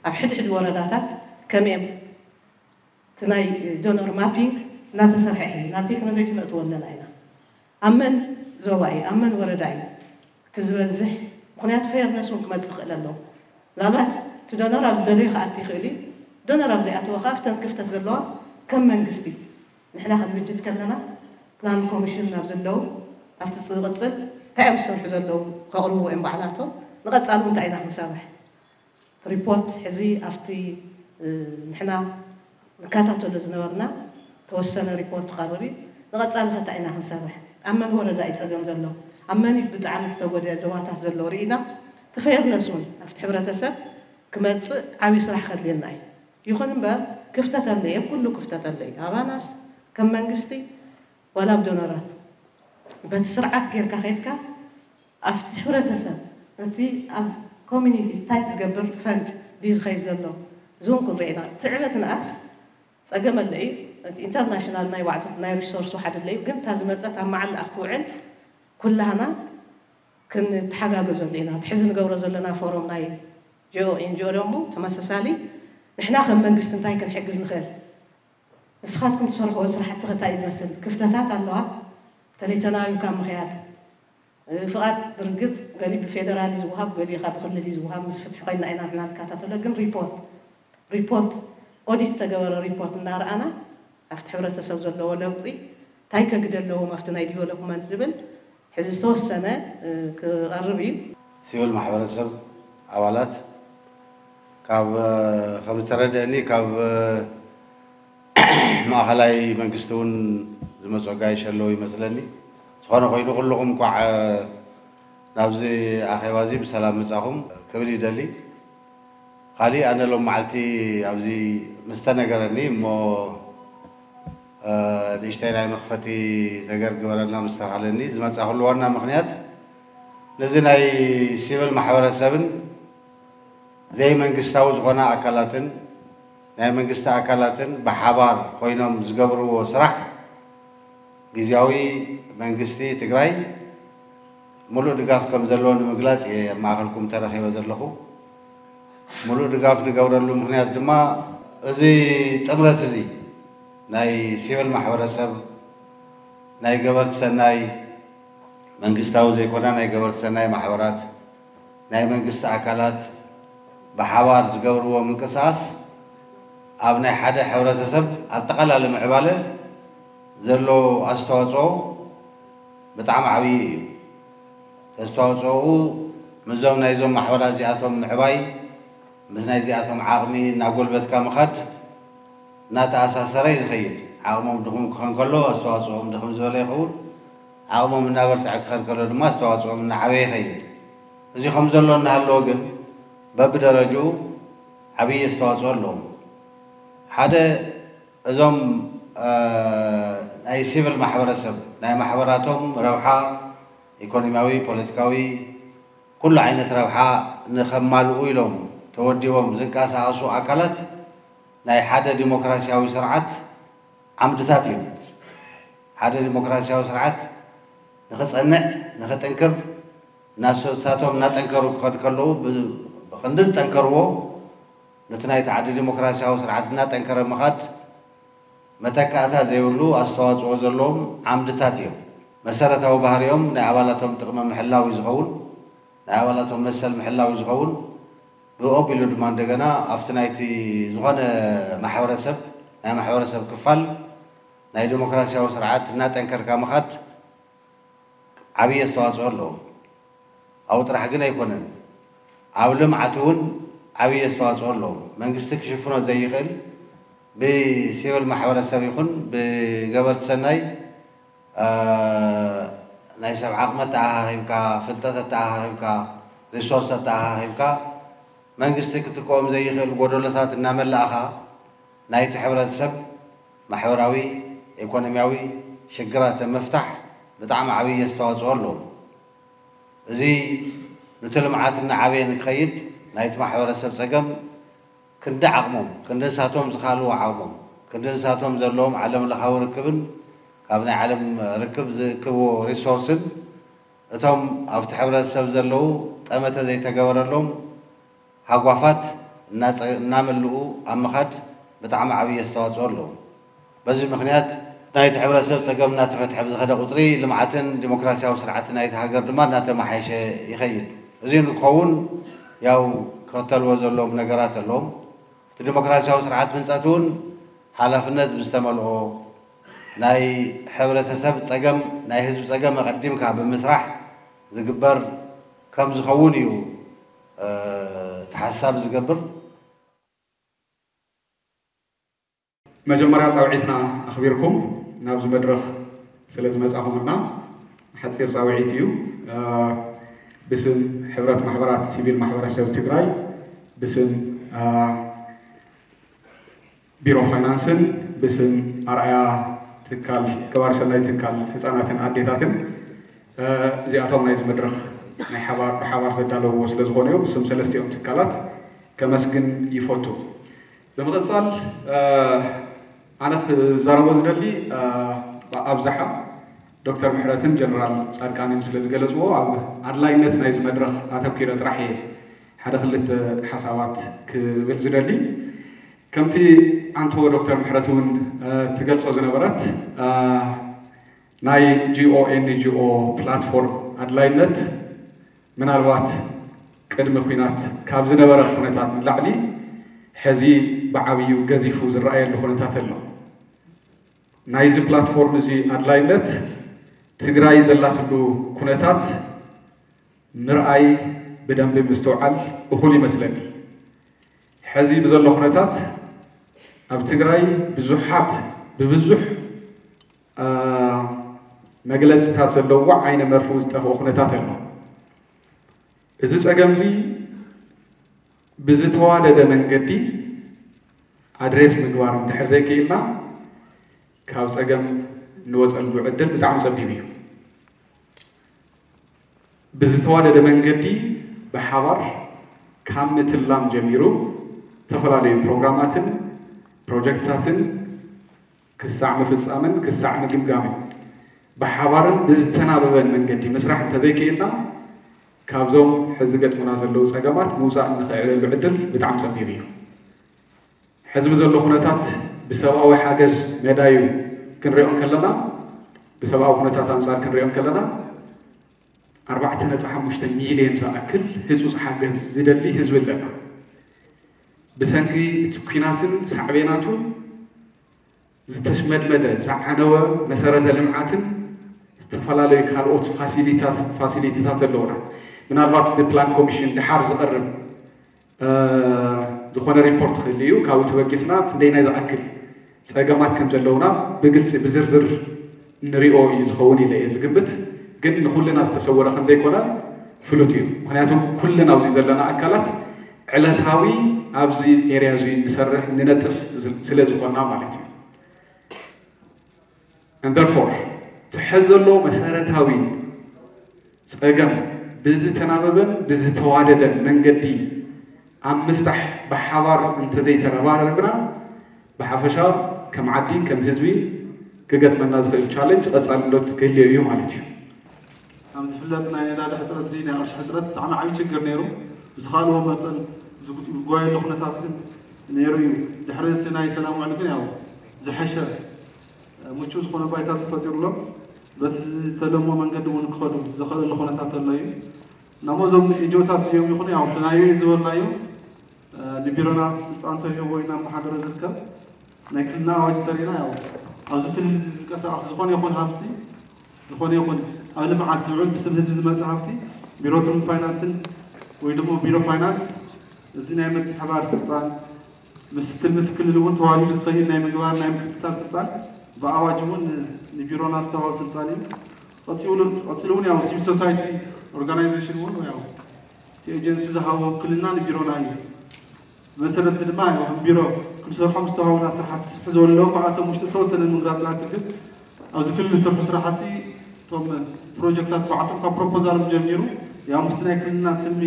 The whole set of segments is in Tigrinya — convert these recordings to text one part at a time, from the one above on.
ኣብ ሕድሕድ ወረዳታት ከመይ እዮም እቲ ናይ ዶኖር ማፒንግ እናተሰርሐ ሕዚ ናብ ቴክኖሎጂ ነእትዎ ኣለና ኢና። ኣብ መን ዞባ እዩ፣ ኣብ መን ወረዳ እዩ እቲ ዝበዝሕ? ምኽንያቱ ፌርነስ እውን ክመፅእ ይኽእል ኣለዎ። ምናልባት እቲ ዶኖር ኣብ ዝደለዮ ክኣቲ ይኽእል እዩ። ዶኖር ኣብ ዘይኣተወ ከዓ ኣብተን ክፍተት ዘለዋ ከም መንግስቲ ንሕና ክንብጅት ከለና ፕላን ኮሚሽን ናብ ዘለዉ ኣብቲ ዝቕፅል እንታይ እዮም ዝሰርሑ ዘለዉ ከቕርብዎ እዮም ባዕላቶም። ንቐፃሊ እውን እንታይ ኢና ክንሰርሕ? ሪፖርት ሕዚ ኣብቲ ንሕና ንከታተሎ ዝነበርና ተወሰነ ሪፖርት ቀርብ እዩ። ንቐፃሊ ከታ ኢና ክንሰርሕ? ኣብ መን ወረዳ እዩ ፀገም ዘሎ? ኣብ መን እዩ ብጣዕሚ ዝተጎድአ ዞባታት ዘሎ ርኢና እቲ ፌርነስ እውን ኣብቲ ሕብረተሰብ ክመፅእ ዓብዪ ስራሕ ከድልየና እዩ። ይኹን እምበር ክፍተት ኣለየ፣ ኩሉ ክፍተት ኣለየ። ኣባናስ ከም መንግስቲ ዋላ ኣብ ዶነራት በቲ ስርዓት ጌርካ ከይድካ ኣብቲ ሕብረተሰብ እቲ ኣብ ኮሚኒቲ ታች ዝገብር ፈንድ ድዩ ዝኸይድ ዘሎ? እዚ እውን ክንርኢ ኢና። ትዕበት ንኣስ ፀገም ኣለ እዩ። እቲ ኢንተርናሽናል ናይ ባዕቱ ናይ ሪሶርስ ሓደ ኣለ እዩ። ግን እታ ዝመፀት ኣብ መዓላ ክትውዕል ኩላህና ክንተሓጋገዘሉ ኢና። እቲ ሕዚ ንገብሮ ዘለና ፎረም ናይ ጂኦ ኤንጂኦ ደሞ ተመሳሳሊ ንሕና ከም መንግስቲ እንታይ ክንሕግዝ ንኽእል? ንስኻትኩም ትሰርሕዎ ስራሕቲ ከ እንታይ እዩ ዝመስል? ክፍተታት ኣለዋ። በተለይ ተናቢብካ ምኽያድ ፍቓድ ብርግፅ ገሊኡ ብፌደራል እዩ ዝወሃብ፣ ገሊኡ ካብ ብክልል እዩ ዝወሃብ። ምስ ፍትሒ ኮይና ኢና ንሕና ንከታተሎ። ግን ሪፖርት ሪፖርት ኦዲት ዝተገበረ ሪፖርት እናረኣና ኣብቲ ሕብረተሰብ ዘለዎ ለውጢ እንታይ ከግደ ኣለዎም ኣብቲ ናይ ዲቨሎፕመንት ዝብል ሕዚ ዝተወሰነ ክቐርብ እዩ። ሲቪል ማሕበረሰብ ኣባላት ካብ ከም ዝተረደእኒ ካብ ማእኸላይ መንግስቲ እውን ዝመፁ ኣጋይሽ ኣለዉ ይመስለኒ። ዝኾነ ኮይኑ ኩልኹም እንኳዕ ናብዚ ኣኼባ እዚ ብሰላም ምፃኹም ክብል ይደሊ። ካሊእ ኣነ ሎም መዓልቲ ኣብዚ ምስ ተነገረኒ እሞ ንእሽተይ ናይ መኽፈቲ ነገር ግበረልና ምስ ተባሃለኒ ዝመፃኹሉ ዋና ምኽንያት ነዚ ናይ ሲቪል ማሕበረሰብን ዘይመንግስታዊ ዝኾና ኣካላትን ናይ መንግስቲ ኣካላትን ብሓባር ኮይኖም ዝገብርዎ ስራሕ ግዝያዊ መንግስቲ ትግራይ ሙሉእ ድጋፍ ከም ዘለዎ ንምግላፅ እየ ኣብ ማእኸልኩም ተረኺበ ዘለኹ። ሙሉእ ድጋፍ ንገብረሉ ምኽንያት ድማ እዚ ጥምረት እዚ ናይ ሲቪል ማሕበረሰብ፣ ናይ ገበርቲ ሰናይ፣ መንግስታዊ ዘይኮና ናይ ገበርቲ ሰናይ ማሕበራት፣ ናይ መንግስቲ ኣካላት ብሓባር ዝገብርዎ ምንቅስቓስ ኣብ ናይ ሓደ ሕብረተሰብ ኣጠቓላሊ ምዕባለ ዘሎ ኣስተዋፅኦ ብጣዕሚ ዓብዪ እዩ። ተስተዋፅኦኡ ምስዞም ናይዞም ማሕበራት እዚኣቶም ምዕባይ ምስ ናይዚኣቶም ዓቕሚ እናጎልበትካ ምኻድ እናተኣሳሰረ እዩ ዝኸይድ። ዓቕሞም ድኹም ክኾን ከሎ ኣስተዋፅኦም ድኽም ዝበለ ይኸውን። ዓቕሞም እናበርትዐ ክኸድ ከሎ ድማ ኣስተዋፅኦም እናዓበየ ይኸይድ። እዚ ከም ዘሎ እናሃለወ ግን በብደረጅኡ ዓብዪ ኣስተዋፅኦ ኣለዎም። ሓደ እዞም ናይ ሲቪል ማሕበረሰብ ናይ ማሕበራቶም ረብሓ ኢኮኖሚያዊ፣ ፖለቲካዊ ኩሉ ዓይነት ረብሓ ንኸማልኡ ኢሎም ተወዲቦም ዝንቀሳቐሱ ኣካላት ናይ ሓደ ዲሞክራሲያዊ ስርዓት ዓምድታት እዮም። ሓደ ዲሞክራሲያዊ ስርዓት ንኽፀንዕ፣ ንኽጥንክር፣ ናሶ-፣ ንሳቶም እናጠንከሩ ክኸዱ ከለዉ ብ-፣ ብኽንዲ ዝጠንከርዎ ነቲ ናይቲ ዓዲ ዲሞክራሲያዊ ስርዓት እናጠንከረ ምኻድ መተካእታ ዘይብሉ ኣስተዋፅኦ ዘለዎም ዓምድታት እዮም። መሰረታዊ ባህሪኦም ናይ ኣባላቶም ጥቕሚ ምሕላው እዩ ዝኸውን፣ ናይ ኣባላቶም መሰል ምሕላው እዩ ዝኸውን። ብኦቢሉ ድማ እንደገና ኣብቲ ናይቲ ዝኾነ ማሕበረሰብ ናይ ማሕበረሰብ ክፋል ናይ ዲሞክራሲያዊ ስርዓት እናጠንከርካ ምኻድ ዓብዪ ኣስተዋፅኦ ኣለዎ። ኣብኡ ጥራሕ ግን ኣይኮነን፣ ኣብ ልምዓት እውን ዓብዪ ኣስተዋፅኦ ኣለዎ። መንግስቲ ክሽፍኖ ዘይኽእል ብሲቪል ማሕበረሰብ ይኹን ብገበርቲ ሰናይ ናይ ሰብ ዓቕሚ ኣተኣኻኺብካ፣ ፍልጠት ኣተኣኻኺብካ፣ ሪሶርስ ኣተኣኻኺብካ መንግስቲ ክትከኦም ዘይኽእል ጎደሎታት እናመላእኻ ናይቲ ሕብረተሰብ ማሕበራዊ፣ ኢኮኖሚያዊ ሽግራት ምፍታሕ ብጣዕሚ ዓብዪ ኣስተዋፅኦ ኣለዎ። እዚ ንቲ ልምዓት እናዓበየ ንክኸይድ ናይቲ ማሕበረሰብ ፀገም ክንዲ ዓቕሞም፣ ክንዲ ንሳቶም ዝኻልዎ ዓቕሞም፣ ክንዲ ንሳቶም ዘለዎም ዓለምለኻዊ ርክብን ካብ ናይ ዓለም ርክብ ዝእክብዎ ሪሶርስን እቶም ኣብቲ ሕብረተሰብ ዘለዉ ጠመተ ዘይተገበረሎም ሃጓፋት እናጸ- እናመልኡ ኣብ ምኻድ ብጣዕሚ ዓብዪ ኣስተዋፅኦ ኣለዎም። በዚ ምኽንያት ናይቲ ሕብረተሰብ ፀገም እናተፈትሐ ብዝኸደ ቁፅሪ ልምዓትን ዲሞክራሲያዊ ስርዓትን ናይቲ ሃገር ድማ እናተመሓየሸ ይኸይድ። እዚ ንክኸውን ያው ክኽተልዎ ዘለዎም ነገራት ኣለዎም። እቲ ዲሞክራሲያዊ ስርዓት ህንፀት እውን ሓላፍነት ብዝተመልኦ ናይ ሕብረተሰብ ፀገም ናይ ህዝቢ ፀገም ኣቐዲምካ ብምስራሕ ዝግበር ከም ዝኸውን እዩ እቲ ሓሳብ ዝገብር። መጀመርያ ፃውዒትና ኣኽቢርኩም ናብዚ መድረኽ ስለ ዝመፃኹምና ሓፂር ፃውዒት እዩ። ብስም ሕብረት ማሕበራት ሲቪል ማሕበረሰብ ትግራይ፣ ብስም ቢሮ ፋይናንስን ብስም ኣርኣያ ትካል ገባሪ ሰናይ ትካል ህፃናትን ኣዴታትን እዚኣቶም ናይዚ መድረኽ ናይ ሓባር ብሓባር ዘዳለውዎ ስለ ዝኾነ እዩ። ብስም ሰለስቲኦም ትካላት ከመስግን ይፈቱ። ብምቕፃል ኣነ ክዛረቦ ዝደሊ ኣብዝሓ ዶክተር ምሕረትን ጀነራል ፃድቃንን ስለ ዝገለፅዎ ኣብ ኣድላይነት ናይዚ መድረኽ ኣተኪረ ጥራሕ እየ ሓደ ክልተ ሓሳባት ክብል ዝደሊ። ከምቲ ኣንቶ ዶክተር ምሕረት እውን ትገልፆ ዝነበረት ናይ ጂኦ ኤንጂኦ ፕላትፎርም ኣድላይነት ምናልባት ቅድሚ ኲናት ካብ ዝነበረ ኩነታት ንላዕሊ ሕዚ ብዓብዩ ገዚፉ ዝረኣየሉ ኩነታት ኣሎ። ናይዚ ፕላትፎርም እዚ ኣድላይነት ትግራይ ዘላትሉ ኩነታት ምርኣይ ብደንቢ ምስትውዓል እኹል ይመስለኒ። ሕዚ ብዘሎ ኩነታት ኣብ ትግራይ ብዙሓት ብብዙሕ መግለፅታት ዘለዎ ዓይነ መርፍኡ ዝጠፍኦ ኩነታት ኣሎ። እዚ ፀገም እዚ ብዝተዋደደ መንገዲ ኣድሬስ ምግባር እንድሕር ዘይክኢልና ካብ ፀገም እንወፀሉ ዕድል ብጣዕሚ ፀቢብ እዩ። ብዝተዋደደ መንገዲ ብሓባር ካብ ምትላም ጀሚሩ ዝተፈላለዩ ፕሮግራማትን ፕሮጀክትታትን ክሳዕ ምፍፃምን ክሳዕ ምግምጋምን ብሓባርን ብዝተናበበን መንገዲ ምስራሕ እንተዘይክኢልና ካብዞም ሕዚ ገጥሙና ዘለዉ ፀገማት ምውፃእ እንኽእለሉ ዕድል ብጣዕሚ ፀቢብ እዩ። ሕዚ ብዘሎ ኩነታት ብሰብኣዊ ሓገዝ መዳዩ ክንሪኦ እንከለና ብሰብኣዊ ኩነታት ኣንፃር ክንሪኦ እንከለና ኣርባዕተ ነጥቢ ሓሙሽተ ሚልዮን ዝኣክል ህፁፅ ሓገዝ ዝደሊ ህዝቢ ኣለና። ብሰንኪ እቲ ኲናትን ሳዕቤናቱን ዝተሽመድመደ ዝዓነወ መሰረተ ልምዓትን ዝተፈላለዩ ካልኦት ፋሲሊታት ዘለውና ምናልባት ብፕላን ኮሚሽን ድሓር ዝቐርብ ዝኾነ ሪፖርት ክህሉ እዩ። ካብኡ ተበጊስና ክንደይናይ ዝኣክል ፀገማት ከም ዘለውና ብግልፂ ብዝርዝር ንሪኦ እዩ ዝኸውን ኢለ እየ ዝግምት። ግን ንኹልና ዝተሰወረ ከም ዘይኮነ ፍሉጥ እዩ። ምክንያቱም ኩልና ኣብዚ ዘለና ኣካላት ዕለታዊ ኣብዚ ኤርያ እዚ ንሰርሕ ንነጥፍ ስለ ዝኾንና ማለት እዩ። And therefore እቲ ሕዚ ዘሎ መሰረታዊ ፀገም ብዝተናበበን ብዝተዋደደን መንገዲ ኣብ ምፍታሕ ብሓባር እንተዘይተረባረብና ብሓፈሻ ከም ዓዲ ከም ህዝቢ ክገጥመና ዝኽእል ቻለንጅ ቀፃልነት ክህልዮ እዩ ማለት እዩ። ከም ዝፍለጥ ናይ ነዳዲ ሕፅረት ድዩ ናይ ቅርሺ ሕፅረት ብጣዕሚ ዓብዪ ችግር ነይሩ። ብዝኻልዎ መጠን ዝጓየሉ ኩነታት ግን ነይሩ እዩ። ድሕሪ እቲ ናይ ሰላም ውዕል ግን ያው ዝሐሸ ምቹእ ዝኾነ ባይታ ተፈጢሩሎም በቲ ዝተለሞ መንገዲ እውን ክኸዱ ዘኽእለሉ ኩነታት ዘሎ እዩ። ናሞ እዞም ኤንጂኦታት እዚኦም ይኹኑ ያው እቲ ናይ ዩኤን ዝበልናዮ ንቢሮና ስልጣን ተዋሂብዎ ኢና እናመሓደረ ዝርከብ ናይ ክልልና ኣዋጅ ተሪእና ያው ኣብዚ ክልል እዚ ዝንቀሳቐስ ዝኾነ ይኹን ሃፍቲ ዝኾነ ይኹን ኣብ ልምዓት ዝውዕል ብስም ህዝቢ ዝመፅእ ሃፍቲ ቢሮ ትልምን ፋይናንስን ወይ ድማ ቢሮ ፋይናንስ እዚ ናይ ምትሕባር ስልጣን ምስ ትልሚ እቲ ክልል እውን ተዋዲዱ ክኸይድ ናይ ምግባር ናይ ምክትታል ስልጣን ብኣዋጅ እውን ንቢሮና ዝተዋሃበ ስልጣን እዩ። ቀፂሉ እውን ያው ሲቪል ሶሳይቲ ኦርጋናይዜሽን እውን ያው እቲ ኤጀንሲ ዝሃቦ ውክልና ንቢሮና እዩ። ብመሰረት እዚ ድማ ያው ከም ቢሮ ክንሰርሖም ዝተዋሃቡና ስራሕቲ ስፍሕ ዝበሉ ኣለዉ። ካብኣቶም ውሽጢ ዝተወሰነ ንምግላፅ ዝኣክል ግን ኣብዚ ክልል ዝስርሑ ስራሕቲ እቶም ፕሮጀክታት ባዕልቶም ካብ ፕሮፖዛሎም ጀሚሩ ያው ምስቲ ናይ ክልልና ትልሚ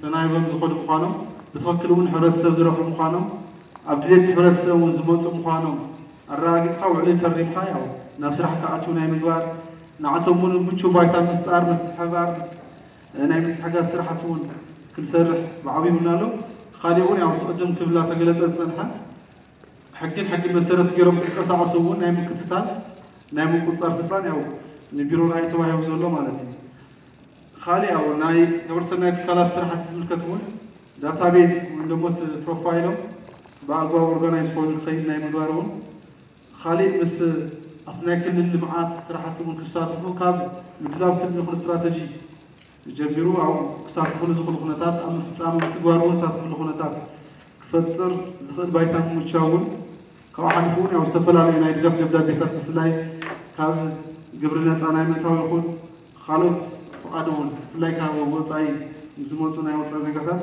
ተናይቦም ዝኸዱ ምዃኖም ብትኽክል እውን ሕብረተሰብ ዝረኽቡ ምዃኖም ኣብ ድሌት ሕብረተሰብ እውን ዝመፁ ምዃኖም ኣረጋጊፅካ ውዕሊ ፈሪምካ ያው ናብ ስራሕ ክኣትዉ ናይ ምግባር ንዓቶም እውን ምቹው ባይታ ምፍጣር ምትሕብባር ናይ ምትሕጋዝ ስራሕቲ እውን ክንሰርሕ ብዓብዩ ይብልና ኣሎ። ካሊእ እውን ያው ትቕድም ክብላ ተገለጸ ዝጸንሐ ሕግን ሕግን መሰረት ገይሮም ክንቀሳቐሱ እውን ናይ ምክትታል ናይ ምቁፅፃር ስልጣን ያው ንቢሮ ራእይ ተዋሂቡ ዘሎ ማለት እዩ። ካሊእ ያው ናይ ግብረሰናይ ትካላት ስራሕቲ ዝምልከት እውን ዳታቤዝ ወይም ደግሞ እቲ ፕሮፋይሎም ብኣግባብ ኦርጋናይዝ ኮይኑ ክኸይድ ናይ ምግባር እውን ካሊእ ምስ ኣብቲ ናይ ክልል ልምዓት ስራሕቲ እውን ክሳተፉ ካብ ምድላው ትልሚ ይኹን ስትራተጂ ጀሚሩ ኣብ ክሳተፉሉ ዝኽእሉ ኩነታት ኣብ ምፍፃም ምትግባር እውን ዝሳተፉሉ ኩነታት ክፈጥር ዝኽእል ባይታ ምምቻው እውን ካብኡ ሓሊፉ እውን ያው ዝተፈላለዩ ናይ ድጋፍ ደብዳቤታት ብፍላይ ካብ ግብሪ ነፃ ናይ ምእታው ይኹን ካልኦት ፍቓድ እውን ብፍላይ ካብ ወፃኢ ዝመፁ ናይ ወፃኢ ዜጋታት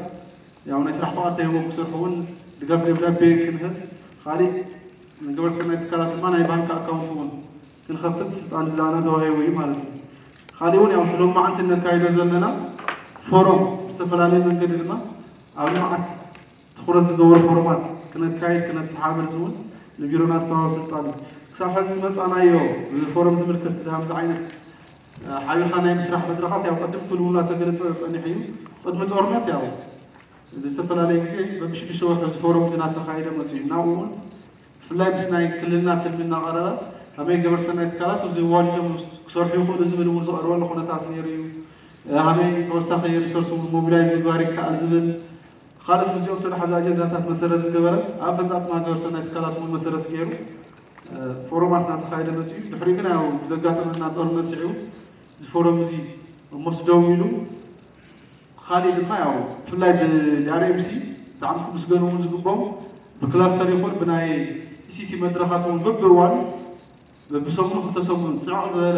ያው ናይ ስራሕ ፍቓድ ተሂቦም ክሰርሑ እውን ድጋፍ ደብዳቤ ክንህብ ካሊእ ንግበር ሰናይ ትካላት ድማ ናይ ባንክ ኣካውንት እውን ክንኸፍት ስልጣን ዝለኣና ተዋሂቡ እዩ ማለት እዩ። ካሊእ እውን ያው እቲ ሎማዓንቲ ነካይዶ ዘለና ፎረም ብዝተፈላለየ መንገዲ ድማ ኣብ ልምዓት ትኹረት ዝገበሩ ፎረማት ክነካይድ ክነተሓብር እውን ንቢሮና ዝተዋሃበ ስልጣን እዩ። ክሳብ ሕዚ ዝመፃናዮ ፎረም ዝምልከት እዚ ከምዚ ዓይነት ሓቢርካ ናይ ምስራሕ መድረኻት ያው ቅድም ክልውላ ተገለፀ ፀኒሑ እዩ። ቅድሚ ጦርነት ያው ብዝተፈላለየ ግዜ በብሽዱሽተ ወርሒ እዚ ፎረም እዚ እናተኻየደ መፅኡ እዩ። ናብኡ እውን ብፍላይ ምስ ናይ ክልልና ትልሚ እናቐረበ ከመይ ገበር ሰናይ ትካላት ኣብዚ ዋዲዶም ክሰርሑ ይኽእሉ ዝብል እውን ዝቐርበሉ ኩነታት ነይሩ እዩ። ሃመይ ተወሳኺ ሪሶርስ እውን ሞቢላይዝ ምግባር ይከኣል ዝብል ካልኦት ምስዚኦም ተተሓዙ ኣጀንዳታት መሰረት ዝገበረ ኣፈፃፅማ ገበር ሰናይ ትካላት እውን መሰረት ገይሩ ፎረማት እናተኻየደ መፅኡ እዩ። ድሕሪ ግን ያው ብዘጋጠመና ጦርነት ስዒቡ እዚ ፎረም እዚ ሞስ ደው ኢሉ ካሊእ ድማ ያው ብፍላይ ብኣርኤምሲ ብጣዕሚ ክምስገኑ እውን ዝግቦም ብክላስተር ይኹን ብናይ ኢሲሲ መድረኻት እውን በብእዋኑ በብሰሙኑ ክልተ ሰሙን ፅዕቕ ዝበለ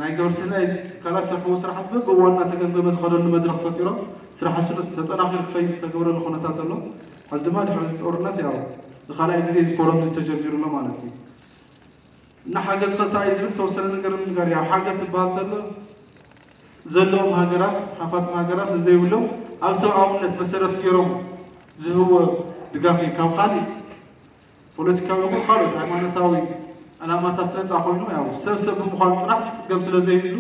ናይ ገበር ሰናይ ትካላት ዝሰርሕዎ ስራሕቲ በብእዋኑ እናተገምገመ ዝኸደሉ መድረኽ ፈጢሮም ስራሕ እሱ ተጠናኺሩ ክኸይድ ዝተገበረሉ ኩነታት ኣሎ። ሕዚ ድማ ድሕሪ እዚ ጦርነት ያው ንካልኣይ ግዜ እዚ ፎረም እዚ ተጀሚሩ ኣሎ ማለት እዩ። እና ሓገዝ ከታ እዩ ዝብል ተወሰነ ነገር ንምንጋር ያው ሓገዝ ትበሃል ተሎ ዘለዎም ሃገራት ሃፋትም ሃገራት ንዘይብሎም ኣብ ሰብኣውነት መሰረት ገይሮም ዝህብዎ ድጋፍ እዩ። ካብ ካሊእ ፖለቲካዊ ይኹን ካልኦት ሃይማኖታዊ ዕላማታት ነፃ ኮይኑ ያው ሰብ ሰብ ብምዃኑ ጥራሕ ክፅገም ስለ ዘይብሉ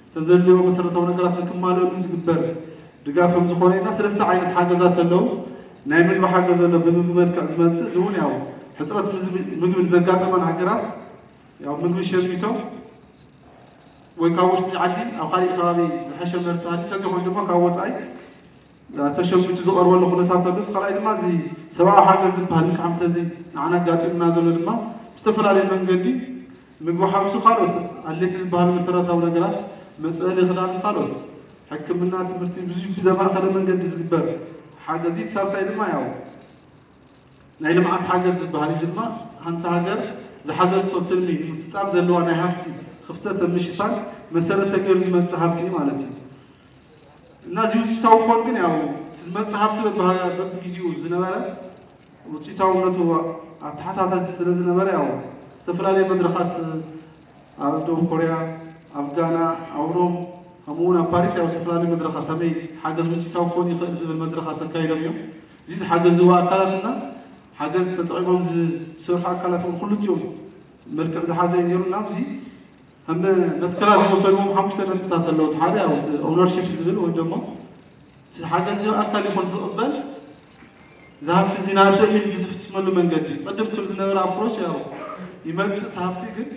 እተን ዘድልዮ መሰረታዊ ነገራት ንክማልእሉ ዝግበር ድጋፍ ከም ዝኾነ ኢና። ሰለስተ ዓይነት ሓገዛት ኣለዉ። ናይ ምግቢ ሓገዝ ኣሎ፣ ብምግቢ መልክዕ ዝመፅእ እዚ እውን ያው ሕፅረት ምግቢ ዘጋጠመን ሃገራት ያው ምግቢ ሸሚቶም ወይ ካብ ውሽጢ ዓዲ ኣብ ካሊእ ከባቢ ዝሐሸ ምህርቲ ሃልዩ ተዘይኮይኑ ድማ ካብ ወፃኢ ተሸሚቱ ዝቐርበሉ ኩነታት ኣሎ። እቲ ካልኣይ ድማ እዚ ሰብኣዊ ሓገዝ ዝበሃል ልክዕ ከምቲ እዚ ንዓና ኣጋጢሙና ዘሎ ድማ ብዝተፈላለየ መንገዲ ምግቢ ሓዊሱ ካልኦት ኣድለይቲ ዝበሃሉ መሰረታዊ ነገራት መፅለሊ ክዳንስ ካልኦት ሕክምና ትምህርቲ ብዙ ብዘማእኸለ መንገዲ ዝግበር ሓገዝ እዩ። ሳልሳይ ድማ ያው ናይ ልምዓት ሓገዝ ዝበሃል እዩ። እዚ ድማ ሓንቲ ሃገር ዝሓዘቶ ትልሚ ንምፍፃም ዘለዋ ናይ ሃፍቲ ክፍተት ኣብ ምሽፋን መሰረት ተገይሩ ዝመፅእ ሃፍቲ እዩ ማለት እዩ። እና እዚ ውፅኢታዊ ክኾን ግን ያው እቲ ዝመፅእ ሃፍቲ በብሃ- በብግዜኡ ዝነበረ ውፅኢታውነቱ ኣተሓታታቲ ስለ ዝነበረ ያው ዝተፈላለዩ መድረኻት ኣብ ደቡብ ኮርያ፣ ኣብ ጋና፣ ኣብ ሮም ከምኡ እውን ኣብ ፓሪስ ያው ዝተፈላለዩ መድረኻት ከመይ ሓገዝ ውፅኢታዊ ክኾን ይኽእል ዝብል መድረኻት ኣካይዶም እዮም። እዚ ዝሓገዝዎ ኣካላትና ሓገዝ ተጠቒሞም ዝሰርሑ ኣካላት እውን ክልቲኦም መልክዕ ዝሓዘ እዩ ነይሩ። እና ኣብዚ ከም መትከላት ዝወሰድዎም ሓሙሽተ ነጥብታት ኣለዉ። እቲ ሓደ ያው እቲ ኦውነርሺፕ ዝብል ወይ ደሞ እቲ ሓገዝ ኣካል ይኹን ዝቕበል እዚ ሃፍቲ እዚ ናተይ ኢሉ ብዝፍፅመሉ መንገዲ ቅድም ክብል ዝነበረ ኣፕሮች ያው ይመፅእ እቲ ሃፍቲ ግን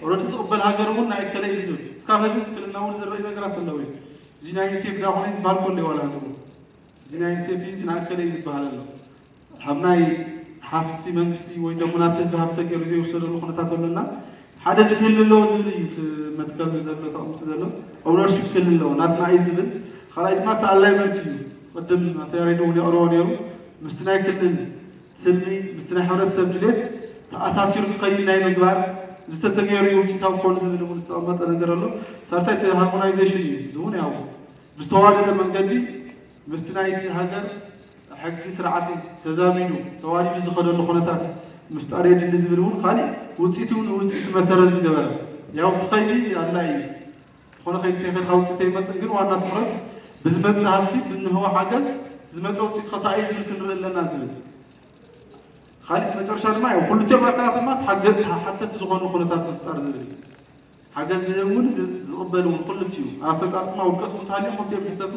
ኦልሬዲ ዝቕበል ሃገር እውን ናይ እከለ እዩ ዝብል እስካብ ሕዚ ክልልና እውን ዝረኣዩ ነገራት ኣለዉ እዮም። እዚ ናይ ዩኒሴፍ ዳ ኮነ ዝበሃል ከሎ ዋላ ሕዚ እውን እዚ ናይ ዩኒሴፍ እዩ እዚ ናይ እከለ እዩ ዝበሃል ኣሎ። ካብ ናይ ሃፍቲ መንግስቲ ወይ ደሞ ናቲ ህዝቢ ሃፍቲ ተገይሩ ዘይወሰደሉ ኩነታት ኣሎና ሓደ እዚ ክህሉ ኣለዎ ዝብል እዩ እቲ መትከል ዘሎ ተቐምጡ ዘሎ ኦውነርሺፕ ክህሉ ኣለዎ ናትና እዩ ዝብል ካልኣይ ድማ እቲ ኣላይመንት እዩ ቅድም ኣቶ ያሬድ እውን የቕርቦ ነይሩ ምስቲ ናይ ክልል ስልሚ ምስቲ ናይ ሕብረተሰብ ድሌት ተኣሳሲሩ ክኸይድ ናይ ምግባር ዝተተገይሩ ውፅኢታዊ ክኾኑ ዝብል እውን ዝተቐመጠ ነገር ኣሎ። ሳልሳይ እቲ ሃርሞናይዜሽን እዩ እዚ እውን ያው ብዝተዋደደ መንገዲ ምስቲ ናይቲ ሃገር ሕጊ ስርዓት ተዛሚዱ ተዋዲዱ ዝኸደሉ ኩነታት ምፍጣር የድሊ ዝብል እውን ካሊእ ውፅኢት እውን ውፅኢት መሰረት ዝገበረ ያው እቲ ኸይዲ ኣድላይ እዩ። ዝኾነ ኸይዲ ተይኸድካ ውፅኢት ኣይመፅን ግን ዋና ትኹረት ብዝመፅእ ሃፍቲ ብንህቦ ሓገዝ ዝመፀ ውፅኢት ኸታ እዩ ዝብል ክንርኢ ኣለና ዝብል ካሊእ መጨረሻ ድማ ያው ክልቲኦም ኣካላት ድማ ሓገ- ሓተቲ ዝኾኑ ኩነታት ምፍጣር ዝብል ሓገዝ ዝህብ እውን ዝቕበል እውን ክልቲኡ ኣፈፃፅማ ውድቀት እውን ተሃልዮም ክልቲኦም ሕተቱ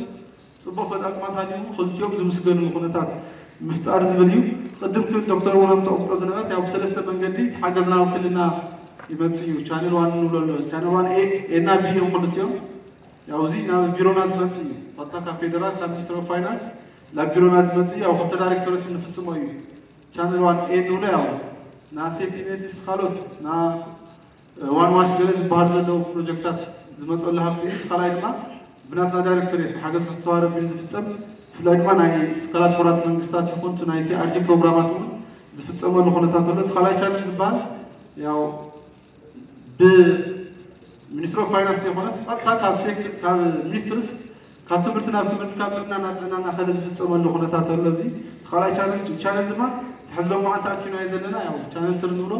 ፅቡቕ ኣፈፃፅማታት ሃልዩ ክልቲኦም ዝምስገንሉ ኩነታት ምፍጣር ዝብል እዩ። ቅድም ክብል ዶክተር እውን ኣምጠቕምጦ ዝነበረት ያው ብሰለስተ መንገዲ እቲ ሓገዝ ናብ ክልልና ይመፅእ እዩ። ቻነል ዋን ንብሎ ኣሎ። ቻነል ዋን ኤ ኤና ቢ እዮም ክልቲኦም። ያው እዚ ናብ ቢሮና ዝመፅእ እዩ። ቀጥታ ካብ ፌደራል ካብ ሚኒስትር ኦፍ ፋይናንስ ናብ ቢሮና ዝመፅእ ያው ክልተ ዳይሬክተሮች እንፍፅሞ እዩ። ቻነል ዋን ኤ ንብሎ ያው ና ሴፍቲ ኔትስ ካልኦት ና ዋን ዋሽ ገለ ዝበሃሉ ዘለዉ ፕሮጀክታት ዝመፀሉ ሃፍቲ እዩ። እቲ ካልኣይ ድማ ብናትና ዳይሬክቶሬት ብሓገዝ ምትሕብባር ኣቢሉ ዝፍፀም ብፍላይ ድማ ናይ ትካላት ሕቡራት መንግስታት ይኹን እቲ ናይ ሲኣርጂ ፕሮግራማት እውን ዝፍፀመሉ ኩነታት ኣሎ። እቲ ካልኣይ ቻነል ዝበሃል ያው ብሚኒስትሪ ኦፍ ፋይናንስ ዘይኮነስ ቀጥታ ካብ ሴክተር ካብ ሚኒስትርስ ካብ ትምህርቲ ናብ ትምህርቲ ካብ ጥዕና ናብ ጥዕና እናኸደ ዝፍፀመሉ ኩነታት ኣሎ። እዚ እቲ ካልኣይ ቻነል እዩ። ቻነል ድማ ትሕዝሎ መዓንተ ኣኪናዮ ዘለና ያው ቻነል ስር ንብሎ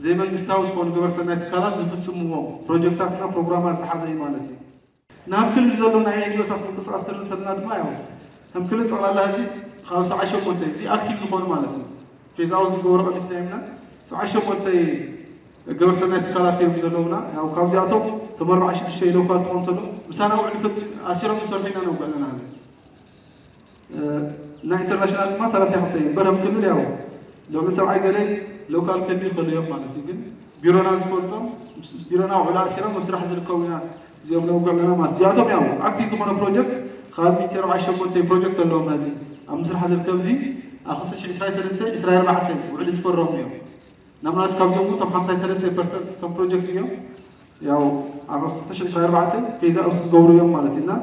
ዘይመንግስታዊ ዝኾኑ ግብረ ሰናይ ትካላት ዝፍፅምዎም ፕሮጀክታትና ፕሮግራማት ዝሓዘ እዩ ማለት እዩ። ናብ ክልል ዘሎ ናይ ኤንጂኦታት ምንቅስቃስ ትርኢ እንተለና ድማ ያው ከም ክልል ጠቕላላ ህዝቢ ካብ ሰብዓ ሸሞንተ እዚ ኣክቲቭ ዝኾኑ ማለት እዩ። ፌዝ ኣውት ዝገበሩ ቀኒስና ኢልና ሰብዓ ሸሞንተ ግብረ ሰናይ ትካላት እዮም ዘለውና። ያው ካብዚኣቶም እቶም ኣርባዓ ሽዱሽተ ሎካል ትኾን እንተሎ ምሳና ውዕል ፈፂም ኣሲሮም ዝሰርሑ ኢና ነውግዕ ኣለና ህዝቢ ናይ ኢንተርናሽናል ድማ ሰላሳ ክልተ እዩ። በረም ክልል ያው ሎሚ ሰብዓይ ገለ ሎካል ክልል ይኽእሉ እዮም ማለት እዩ። ግን ቢሮና ዝፈልጦም ቢሮና ውዕል ኣሲሮም ኣብ ስራሕ ዝርከቡ ኢና እዚኦም ነውግዕ ኣለና ማለት እዚኣቶም ያው ኣክቲቭ ዝኾነ ፕሮጀክት ካብ ሚእቲ ኣርባዓ ሸሞንተ ፕሮጀክት ኣለዎም። እዚ ኣብ ምስራሕ ዝርከብ እዚ ኣብ ክልተ ሽሕ ዕስራን ሰለስተን ዕስራን ኣርባዕተን ውዕል ዝፈረሙ እዮም። ናምናስ ካብዚኦም እውን እቶም ሓምሳ ሰለስተ ፐርሰንት እቶም ፕሮጀክት እዮም ያው ኣብ ክልተ ሽሕ ዕስራን ኣርባዕተን ፌዝ ኣውት ዝገብሩ እዮም ማለት እዩ። እና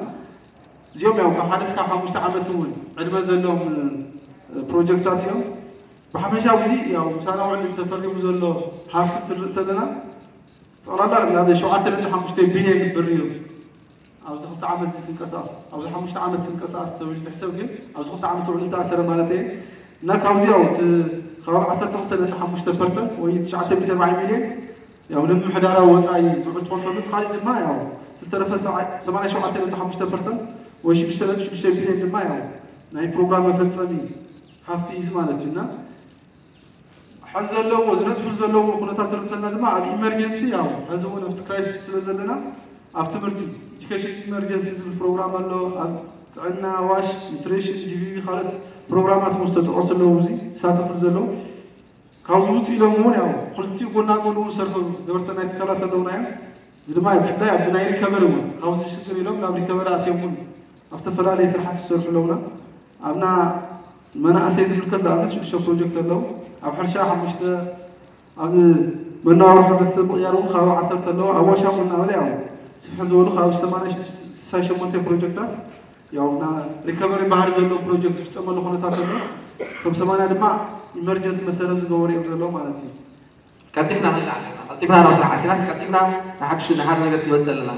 እዚኦም ያው ካብ ሓደ እስካብ ሓሙሽተ ዓመት እውን ዕድመ ዘለዎም ፕሮጀክታት እዮም። ብሓፈሻ ኣብዚ ያው ምሳና ውዕል ተፈሪሙ ዘሎ ሃፍቲ ትርኢ ተለና ጠቕላላ ናብ ሸውዓተ ነጥቢ ሓሙሽተ ቢልዮን ብር እዩ ኣብዚ ክልተ ዓመት እዚ ክንቀሳቐስ ኣብዚ ሓሙሽተ ዓመት ክንቀሳቐስ ተባሂሉ ዝሕሰብ ግን ኣብዚ ክልተ ዓመት ውዕል ዝተኣሰረ ማለት እየ። እና ካብዚ ያው እቲ ከባቢ ዓሰርተ ክልተ ነጥቢ ሓሙሽተ ፐርሰንት ወይ ትሽዓተ ሚእቲ ኣርባዓ ሚልዮን ያው ንምምሕዳራዊ ወፃኢ ዝውዕል ትኾን ተሎ እቲ ካሊእ ድማ ያው ዝተረፈ ሰብዓ- ሰማንያ ሸውዓተ ነጥቢ ሓሙሽተ ፐርሰንት ወይ ሽዱሽተ ነጥቢ ሽዱሽተ ቢልዮን ድማ ያው ናይ ፕሮግራም መፈፀሚ ሃፍቲ እዩ ማለት እዩ። እና ሕዚ ዘለዎ ዝነጥፉ ዘለዉ ኩነታት ተርተና ድማ ኣብ ኢመርጀንሲ ያው ሕዚ እውን ኣብቲ ክራይሲስ ስለ ዘለና ኣብ ትምህርቲ ኤዱኬሽን ኢመርጀንሲ ዝብል ፕሮግራም ኣሎ። ኣብ ጥዕና ዋሽ ኒትሪሽን ጂቪቪ ካልኦት ፕሮግራማት እውን ዝተጠቐሱ ኣለዉ። እዚ ዝሳተፉ ዘለዉ ካብዚ ውፅእ ኢሎም እውን ያው ክልቲኡ ጎና ጎን እውን ዝሰርሑ ግብረሰናይ ትካላት ኣለውና እዮም። እዚ ድማ ብፍላይ ኣብዚ ናይ ሪከቨሪ እውን ካብዚ ሽግር ኢሎም ናብ ሪከቨሪ ኣትዮም እውን ኣብ ዝተፈላለዩ ስራሕቲ ዝሰርሑ ኣለውና። ኣብና መናእሰይ ዝምልከት ንኣብነት ሽዱሽተ ፕሮጀክት ኣለዉ። ኣብ ሕርሻ ሓሙሽተ ኣብ መነባብሮ ሕብረተሰብ ምቕያር እውን ካብ ዓሰርተ ኣለዉ። ኣብ ዋሻ እውን እናበለ ያው ስፍሕ ዝበሉ ካብ ሰማንያ ስሳ ሸሞንተ ፕሮጀክታት ያው ና ሪከቨሪ ባህሪ ዘለዎ ፕሮጀክት ዝፍፀመሉ ኩነታት ዘሎ ከም ሰማንያ ድማ ኢመርጀንሲ መሰረት ዝገበሩ እዮም ዘለዉ ማለት እዩ። ቀልጢፍና ክንልዓል ኣለና። ቀልጢፍና ናብ ስራሕ ኣቲናስ ቀልጢፍና ንሓድሽ ንሓደ ነገር ክንመፅእ ኣለና።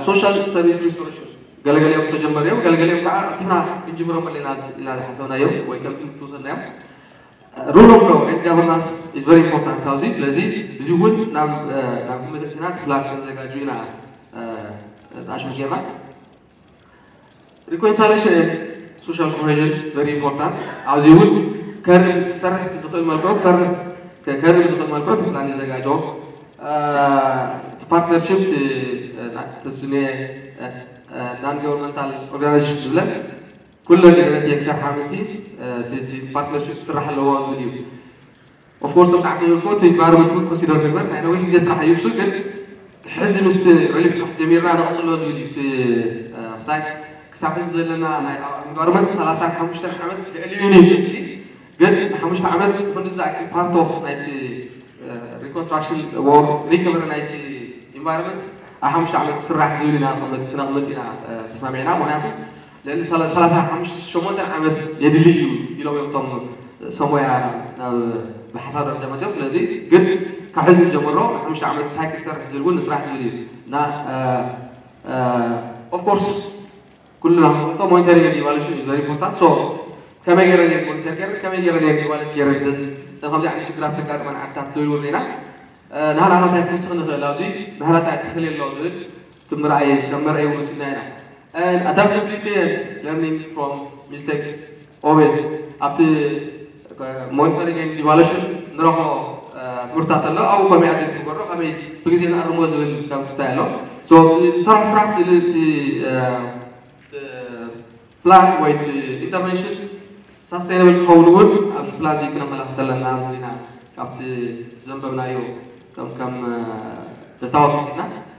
ሶሻል ሰርቪስ ሪስቶሬሽን ገለገሊኦም ተጀመሩ እዮም፣ ገለገሊኦም ከዓ ቀልጢፍና ክንጅምሮም ኣለና ኢልና ዝሓሰብናዮም ወይ ከም ትምህርቲ ዝወሰድናዮም። Rule of law and governance is very important ኣብዚ። ስለዚ እዚ እውን ናብ ናብ ግምት ኣእቲና እቲ ፕላን ከነዘጋጁ ኢና ኣሽሙ ጌርና። Reconciliation and social cohesion very important። ኣብዚ እውን ከርም ክሰርሕ ብዝኽእል መልክዑ ክሰርሕ ከርም ብዝኽእል መልክዑ እቲ ፕላን ይዘጋጆ። እቲ ፓርትነርሽፕ ተስኔ non governmental organization ዝብለን ኩለን ነቲ ክሰርሓ ምንቲ ፓርትነርሽፕ ክስራሕ ኣለዎ ዝብል እዩ። ኦፍኮርስ ከም ዛዕባ ዝበልኩ እቲ ኢንቫይሮንመንት እውን ኮንሲደር ንግበር ናይ ነዊሕ ግዜ ስራሕ እዩ። እሱ ግን ሕዚ ምስ ሪሊፍ ስራሕ ጀሚርና ንቐፅሎ ዝብል እዩ። እቲ ክሳይ ክሳብ ሕዚ ዘለና ናይ ኢንቫይሮንመንት ሰላሳ ሓሙሽተ ዓመት ልዕሊ ዩኒቨርሲቲ ግን ንሓሙሽተ ዓመት ክንዲ ዝኣክል ፓርት ኦፍ ናይቲ ሪኮንስትራክሽን ወር ሪከቨሪ ናይቲ ኢንቫይሮንመንት ኣብ ሓሙሽተ ዓመት ዝስራሕ ዝብል ኢና ክነቕምጥ ኢና ተስማሚዕና። ምክንያቱ ልዕሊ ሰላሳ ሓሙሽተ ሸሞንተ ዓመት የድሊ እዩ ኢሎም እዮም እቶም ሰሞያ ናብ ብሓሳብ ደረጃ መፅኦም። ስለዚ ግን ካብ ሕዚ ንጀምሮ ሓሙሽተ ዓመት እንታይ ክሰርሕ ዝብል እውን ንስራሕ ዝብል እዩ እና ኦፍኮርስ ኩልና ንፈልጦ ሞኒተሪንግ ኢቫሉሽን ኢዝ ቨሪ ኢምፖርታንት። ሶ ከመይ ገይረን እየን ሞኒተር ገይረን ከመይ ገይረን እየን ኢቫሉት ገይረን ከምዚ ዓይነት ሽግራት ዘጋጥመን ዓድታት ዝብል እውን ኢና ናህና እንታይ ክንውስኽ ንኽእል ኣብዚ ናህና እንታይ ትኽእል ኣሎ ዝብል ክምርኣየ ከም መርኣይ እውን ወሲድና ኢና። And adaptability and learning from mistakes always ኣብቲ ሞኒተሪንግ and ኢቫሉሽን ንረኽቦ ትምህርታት ኣሎ። ኣብኡ ከመይ ኣድሬስ ንገሮ ከመይ ብግዜ ንኣርሞ ዝብል ከም ክስታይ ኣሎ። So ዝሰርሖ ስራሕ እቲ ፕላን ወይ ኢንተርቨንሽን ሳስቴይነብል ክኸውን እውን ኣብዚ ፕላን እዚ ክነመላኽት ኣለና ኣብዚ ኢና ካብቲ ዘንበብናዮ ከም ከም እታወት ወሲድና